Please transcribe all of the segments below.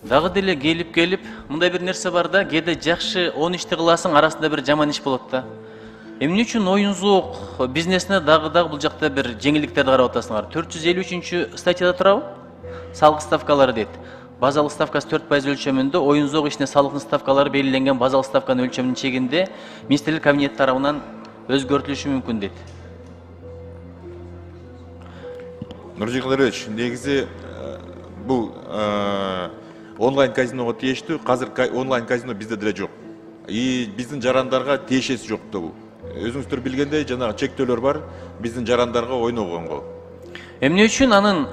Дагы деле келип мындай бир нерсе бар да, кээде жакшы 10 ишти кыласың, арасында бир жаман иш болот да. Эмне үчүн оюн зоок бизнесине дагы бул жакта бир жеңилдиктерди карап атасыңар? 453 статьяда турабы? Салык ставкалары дейт. Базалык ставкасы 4% өлчөмүндө оюн зоок ишине салыктын ставкалары белгиленген базалык ставканын өлчөмүнүн чегинде министрлик кабинети тарабынан өзгөртүлүшү мүмкүн дейт. Нуржигул Эрерович, негизи бул онлайн казиного тиештүү, азыр онлайн казино бизде деле жок. И биздин жарандарга тиешеси жок да бул. Өзүңүздөр билгендей, жанагы чектөөлөр бар биздин жарандарга ойногонго. Эмне үчүн анын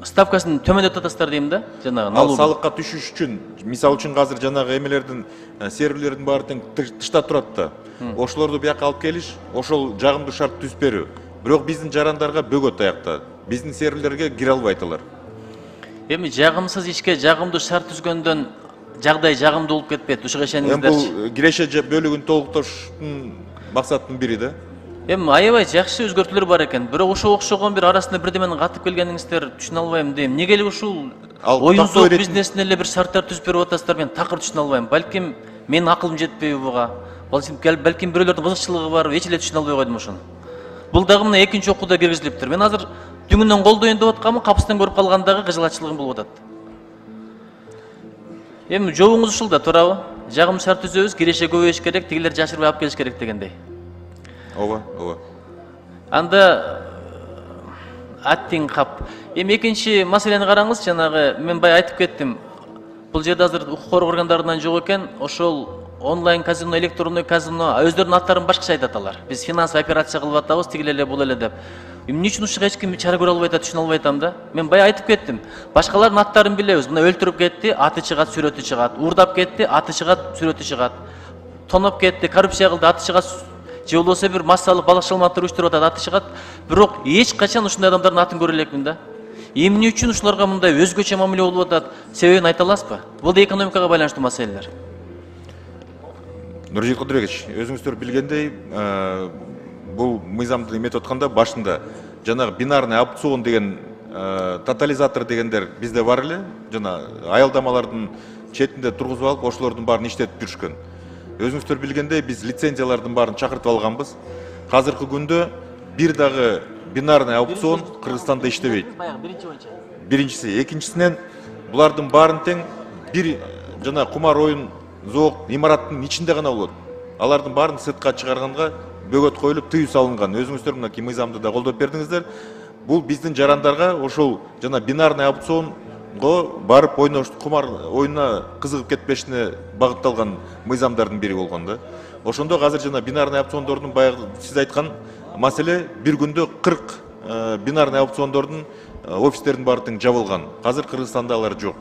ставкасын төмөндөтүп атасыздар дейм да, жанагы налог. Ал салыкка түшүш үчүн, мисалы үчүн азыр жанагы эмелердин, серверлердин баары тең тышта турат да. Ошолорду бияка алып келиш, ошол жагымдуу шарт түзүп берүү. Бирок биздин жарандарга бөгөт аякта. Биздин серверлерге кире албайт алар. Эми жагымсыз ишке жагымдуу шарт түзгөндөн жагдай жагымдуу болуп кетпейт. Ушуга ишениңиздерчи. Бул киреше бөлүгүн толуктоштун максатынын бири да. Эми аябай жакшы өзгөртүүлөр бар экен. Бирок ошого окшогон бир арасында бирдеменин катып келгениңиздер түшүнө албайм дейм. Эмнеге эле ушул оюн зоок бизнесине эле бир шарттар түзүп берип атасыздар, мен такыр түшүнө албайм. Балким менин акылым жетпейби буга? Балким бирөөлөрдүн кызыкчылыгы бар, эч эле түшүнө албай койдум ошону. Бул дагы мына экинчи окууда киргизилиптир. Мен азыр түңүнөн колдоюн деп атканмын, капыстан көрүп калгандагы кыжылаччылыгым болуп атат. Эми жобуңуз ушул да туурабы? Жагым шарт түзөбүз, киреше көбөйүш керек, тигилер жашырбай алып келиш керек дегендей. Ооба. Анда аттиң кап. Эми экинчи маселени караңыз, жанагы мен бай айтып кеттим. Бул жерде азыр укук коргоо органдарынан жок экен, ошол онлайн казино, электрондой казино өздөрүнүн аттарын башкача айтат алар. Биз финансовый операция кылып атабыз, тигил эле бул эле деп. Эмне үчүн ушуга эч ким чара көрө албай атат, түшүнө албай атам да. Мен бай айтып кеттим. Башкалардын аттарын билебиз. Мына өлтүрүп кетти, аты чыгат, сүрөтү чыгат. Уурдап кетти, аты чыгат, сүрөтү чыгат. Тоноп кетти, коррупция кылды, аты чыгат. Же болбосо бир массалык балыкчыл маалыматтар уюштуруп атат, аты чыгат. Бирок эч качан ушундай адамдардын атын көрө элекмин да. Эмне үчүн ушуларга мындай өзгөчө мамиле болуп атат? Себебин айта аласызбы? Бул да экономикага байланыштуу маселелер. Нуржигул Кудурекович, өзүңүздөр билгендей, бул мыйзамды эметип атканда башында жанагы бинарный опцион деген тотализатор дегендер бизде бар эле, жана аялдамалардын четинде тургузуп алып, ошолордун баарын иштетип жүрүшкөн. Өзүңүздөр билгендей, биз лицензиялардын баарын чакыртып алганбыз. Азыркы күндө бир дагы бинарный опцион Кыргызстанда иштебейт. Биринчиси, экинчисинен булардын баарын тең бир жана кумар оюн зоок имараттын ичинде гана болот. Алардын баарын сыртка чыгарганга бөгөт коюлуп, тыюу салынган. Өзүңүздөр мынакей мыйзамды да колдоп бердиңиздер. Бул биздин жарандарга ошол жана бинарный опционго барып ойнош, кумар оюнуна кызыгып кетпешине багытталган мыйзамдардын бири болгон да. Ошондо азыр жана бинарный опциондордун баягы сиз айткан маселе бир күндө 40 бинарный опциондордун офистердин баары тең жабылган. Азыр Кыргызстанда алар жок.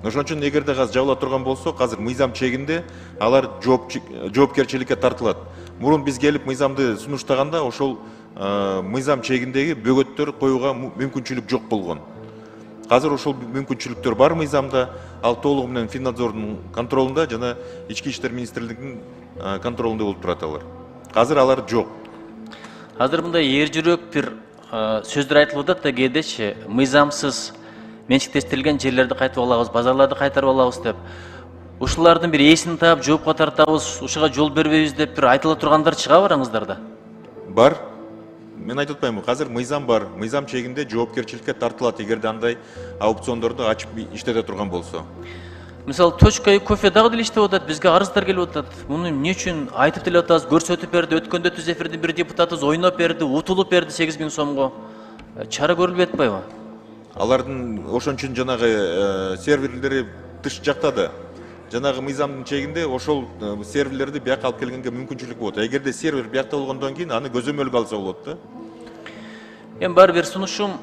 Ошон үчүн эгерде азыр жабыла турган болсо, азыр мыйзам чегинде алар жоопкерчиликке тартылат. Мурун биз келип мыйзамды сунуштаганда ошол мыйзам чегиндеги бөгөттөр коюуга мүмкүнчүлүк жок болгон. Азыр ошол мүмкүнчүлүктөр бар мыйзамда, ал толугу менен Финнадзордун контролунда жана Ички иштер министрлигинин контролунда болуп турат алар. Азыр алар жок. Азыр мындай эр жүрөк бир сөздөр айтылып атат да кээдечи, мыйзамсыз менчиктештирилген жерлерди кайтып алабыз, базарларды кайтарып алабыз деп. Ушулардын бир эсин таап, жоопко тартабыз, ушуга жол бербейбиз деп бир айтыла тургандар чыга бараңыздарда. Бар. Мен айтып атпаймынбы, азыр мыйзам бар. Мыйзам чегинде жоопкерчиликке тартылат эгерде андай аукциондорду ачып иштете турган болсо. Мисалы, точка кофе дагы деле иштеп атат, бизге арыздар келип атат. Муну эмне үчүн айтып деле атабыз, көрсөтүп берди, өткөндө түз эфирдин бир депутатыбыз ойноп берди, утулуп берди 8000 сомго. Чара көрүлбөй атпайбы? Алардын ошон үчүн жанагы серверлери тыш жакта да. Жанагы мыйзамдын чегинде ошол серверлерди бияка алып келгенге мүмкүнчүлүк болот. Эгерде сервер биякта болгондон кийин аны көзөмөлгө алса болот да. Эми бар бир сунушум,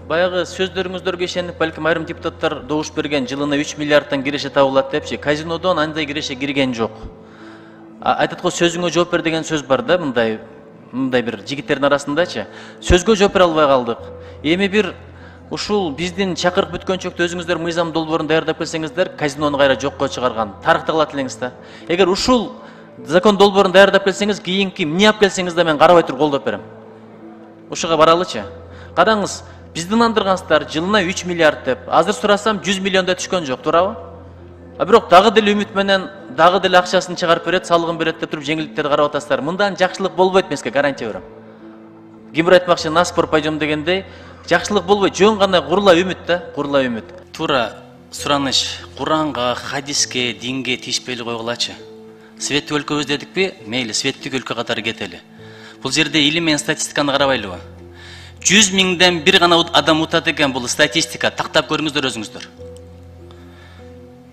баягы сөздөрүңүздөргө ишенип, балким айрым депутаттар добуш берген, жылына 3 миллиардтан киреше табылат депчи. Казинодон андай киреше кирген жок. Айтат го сөзүңө жооп бер деген сөз бар да, мындай бир жигиттердин арасындачы. Сөзгө жооп бере албай калдык. Эми бир ушул биздин чакырык бүткөнчөктө өзүңүздөр мыйзам долбоорун даярдап келсеңиздер, казинону кайра жокко чыгарган тарыхта калат элеңиз да. Эгер ушул закон долбоорун даярдап келсеңиз, кийинки эмне алып келсеңиз да мен карабай туруп колдоп берем. Ушуга баралычы. Караңыз, Бизди ынандыргансыздар, жылына 3 миллиард деп. Азыр сурасам 100 миллиондой түшкөн жок, туурабы? А бирок дагы деле үмүт менен дагы деле акчасын чыгарып берет, салыгын берет деп туруп жеңилдиктерди карап атасыздар. Мындан жакшылык болбойт, мен сизге гарантия берем. Кимбир айтмакчы, на спор пойдем дегендей, жакшылык болбойт, жөн гана курула үмүт да, курула үмүт. Туура сураныш Куранга, хадиске, динге тийишпейли койгулачы. Светтик өлкөбүз дедикпи? Мейли, светтик өлкө катары кетели. Бул жерде илим менен статистиканы карабайлыбы? 100 миңден бир гана адам утат экен, бул статистика. Тактап көрүңүздөр өзүңүздөр.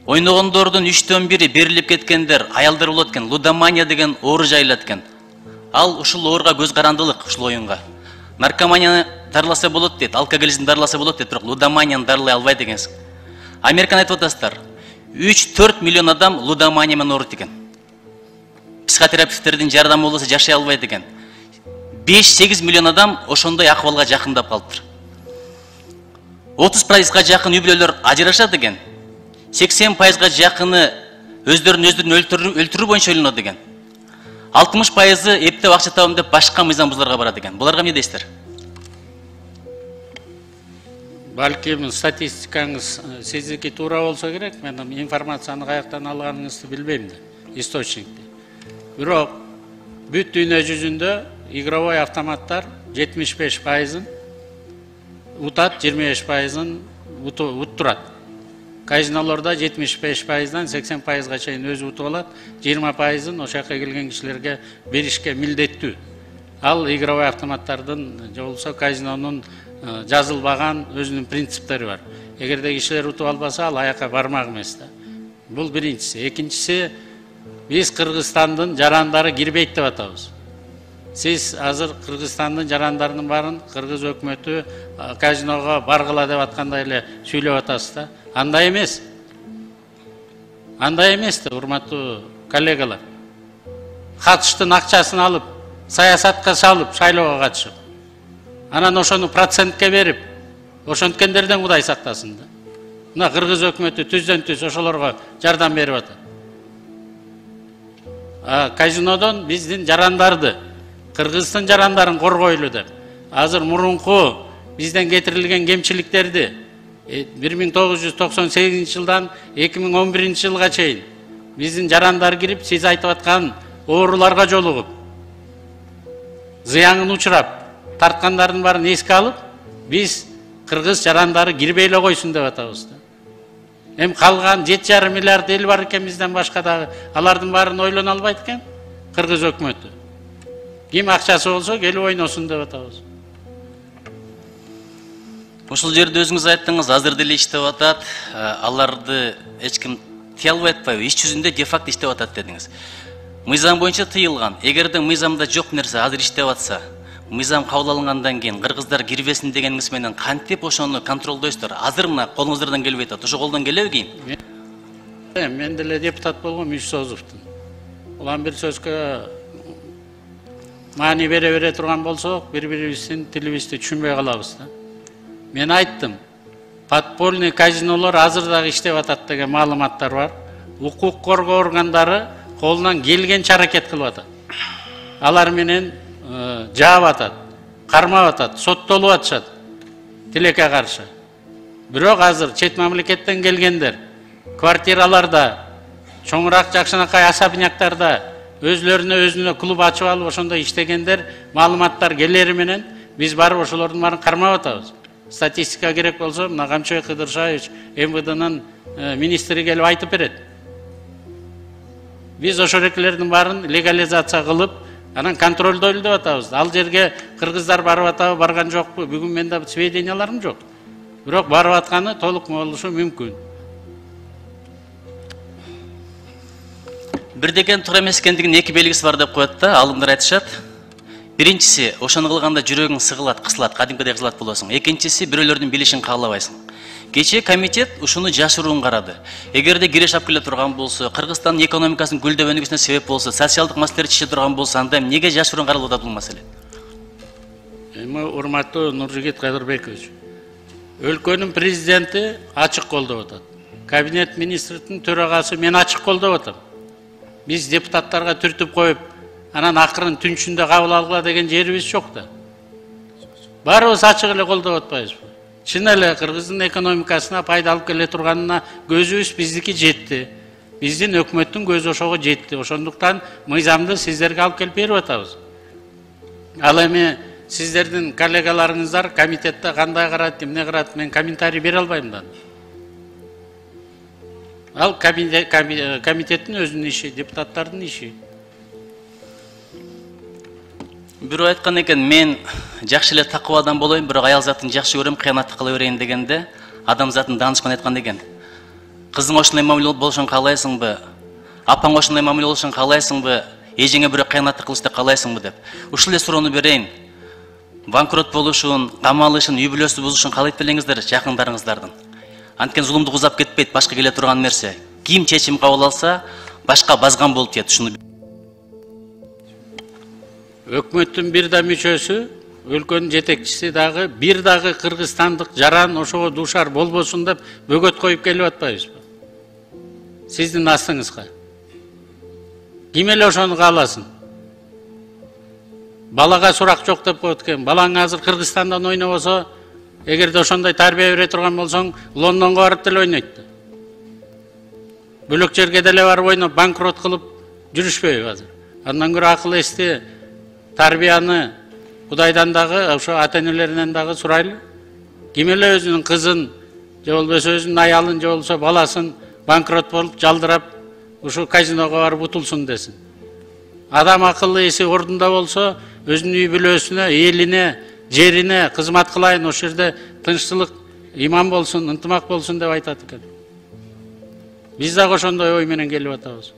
Ойногондордун 3төн бири берилип кеткендер, аялдар болот экен, лудомания деген оору жайылат экен. Ал ушул ооруга көз карандылык, ушул оюнга. Наркоманияны дарыласа болот дейт, алкоголизмди дарыласа болот дейт, бирок лудоманияны дарылай албайт экенсиң. Американы айтып атасыздар. 3-4 миллион адам лудомания менен ооруйт экен. Психотерапевттердин жардамы болбосо жашай албайт экен. 5-8 миллион адам ошондой акыбалга жакындап калыптыр. 30%га жакын үй бүлөлөр ажырашат экен. 80%га жакыны өздөрүн өлтүрүү боюнча ойлонот экен. 60% эптеп акча табам деп башка мыйзам бузууларга барат экен. Буларга эмне дейсиздер? Балким статистикаңыз сиздики туура болсо керек, мен информацияны каяктан алганыңызды билбейм да, источникти. Бирок бүт дүйнө жүзүндө игровой автоматтар 75%-ын утат, 25%-ын уттурат. Казинолордо 75%-дан 80%-га чейин өзү утуп алат, 20%-ын ошол жака келген кишилерге беришке милдеттүү. Ал игровой автоматтардын же болбосо казинонун жазылбаган өзүнүн принциптери бар. Эгерде кишилер утуп албаса, ал аяка бармак эмес да. Бул биринчиси. Экинчиси, биз Кыргызстандын жарандары кирбейт деп атабыз. Сиз азыр Кыргызстандын жарандарынын баарын кыргыз өкмөтү казиного баргыла деп аткандай эле сүйлөп атасыз да. Андай эмес. Андай эмес да, урматтуу коллегалар. Катыштын акчасын алып, саясатка салып, шайлоого катышып, анан ошону процентке берип, ошонткендерден Кудай сактасын да. Мына кыргыз өкмөтү түздөн түз ошолорго жардам берип атат. Казинодон биздин жарандарды, Кыргыздын жарандарын коргойлу деп. Азыр мурунку бизден кетирилген кемчиликтерди 1998 жылдан 2011 жылга чейин биздин жарандар кирип, сиз айтып аткан ооруларга жолугуп, зыянын учурап, тарткандардын баарын эске алып, биз кыргыз жарандары кирбей эле койсун деп атабыз да. Эми калган 7,5 миллиард эл бар экен бизден башка дагы, алардын баарын ойлоно албайт экен кыргыз өкмөтү. Ким акчасы болсо келип ойносун деп атабыз. Ушул жерде өзүңүз айттыңыз, азыр деле иштеп атат, аларды эч ким тыя албайт атпайбы? Иш жүзүндө де факто иштеп атат дедиңиз. Мыйзам боюнча тыйылган. Эгерде мыйзамда жок нерсе азыр иштеп атса, мыйзам кабыл алынгандан кийин кыргыздар кирбесин дегениңиз менен кантип ошону контролдойсуздар? Азыр мына колуңуздардан келбей атат. Ошо колдон келеби кийин? Мен деле депутат болгом Ишсозовдун. Улам бир сөзгө маани бере турган болсок, бири-бирибиздин тилибизди түшүнбөй калабыз да. Мен айттым, подпольный казинолор азыр дагы иштеп атат деген маалыматтар бар. Укук коргоо органдары колунан келгенче аракет кылып атат. Алар менен жаап атат, кармап атат, соттолуп атышат тилекке каршы. Бирок азыр чет мамлекеттен келгендер квартираларда, чоңураак жакшынакай особняктарда өзүнө клуб ачып алып ошондо иштегендер маалыматтар келери менен биз барып ошолордун баарын кармап атабыз. Статистика керек болсо, мына Камчыбек Кыдыршаевич МВДнын министри келип айтып берет. Биз ошолердин баарын легализация кылып, анан контролдойлу деп атабыз. Ал жерге кыргыздар барып атабы, барган жокпу? Бүгүн менде сведенияларым жок. Бирок барып атканы толук болушу мүмкүн. Бир деген туура эмес экендигинин эки белгиси бар деп коет да, алымдар айтышат. Биринчиси, ошону кылганда жүрөгүң сыгылат, кысылат, кадимкидей кысылат болосуң. Экинчиси, бирөөлөрдүн билишин каалабайсың. Кечээ комитет ушуну жашыруун карады. Эгерде киреш алып келе турган болсо, Кыргызстандын экономикасынын гүлдөп өнүгүшүнө себеп болсо, социалдык маселелер чече турган болсо, анда эмнеге жашыруун каралып атат бул маселе? Эми урматтуу Нуржигит Кадырбекович, өлкөнүн президенти ачык колдоп атат. Кабинет министрдин төрагасы мен ачык колдоп атам. Биз депутаттарга түртүп коюп, анан акырын түнчүндө кабыл алгыла деген жерибиз жок да. Баарыбыз ачык эле колдоп атпайбызбы? Чын эле Кыргыздын экономикасына пайда алып келе турганына көзүбүз биздики жетти. Биздин өкмөттүн көзү ошого жетти. Ошондуктан мыйзамды сиздерге алып келип берип атабыз. Ал эми сиздердин коллегаларыңыздар комитетте кандай карайт, эмне карайт, мен комментарий бере албайм да. Ал комитеттин өзүнүн иши, депутаттардын иши. Бирөө айткан экен, мен жакшы эле такып адам болоюн, бирок аял затын жакшы көрөм, кыянатты кыла берейин дегенде, адам затын данышман айткан экен. Кызың ошондой мамиле болушун каалайсыңбы? Апаң ошондой мамиле болушун каалайсыңбы? Эжеңе бирөө кыянатты кылышты каалайсыңбы деп. Ушул эле суроону берейин. Банкрот болушун, камалышын, үй бүлөсү бузушун каалайт белеңиздер жакындарыңыздардын. Анткени зулумду узап кетпейт, башка келе турган нерсе. Ким чечим кабыл алса, башка базган болуп тиет. Ушуну Өкмөттүн бир да мүчөсү, өлкөнүн жетекчиси дагы бир дагы кыргызстандык жаран ошого дуушар болбосун деп бөгөт коюп келип атпайбызбы? Сиздин астыңызга. Ким эле ошону кааласын? Балага сурак жок деп коет экен. Балаң азыр Кыргызстандан ойнобосо, эгерде ошондой тарбия бере турган болсоң, Лондонго барып деле ойнойт. Бөлөк жерге деле барып ойноп, банкрот кылып жүрүшпөйбү азыр? Андан көрө акыл эсти тарбияны Кудайдан дагы, ошо ата-энелеринен дагы сурайлы. Ким эле өзүнүн кызын, же болбосо өзүнүн аялын, же болбосо баласын банкрот болуп, жалдырап, ушу казиного барып утулсун десин. Адам акылы эси ордунда болсо, өзүнүн үй бүлөсүнө, элине, жерине кызмат кылайын, ошол жерде тынччылык, иман болсун, ынтымак болсун деп айтат экен. Биз дагы ошондой ой менен келип атабыз.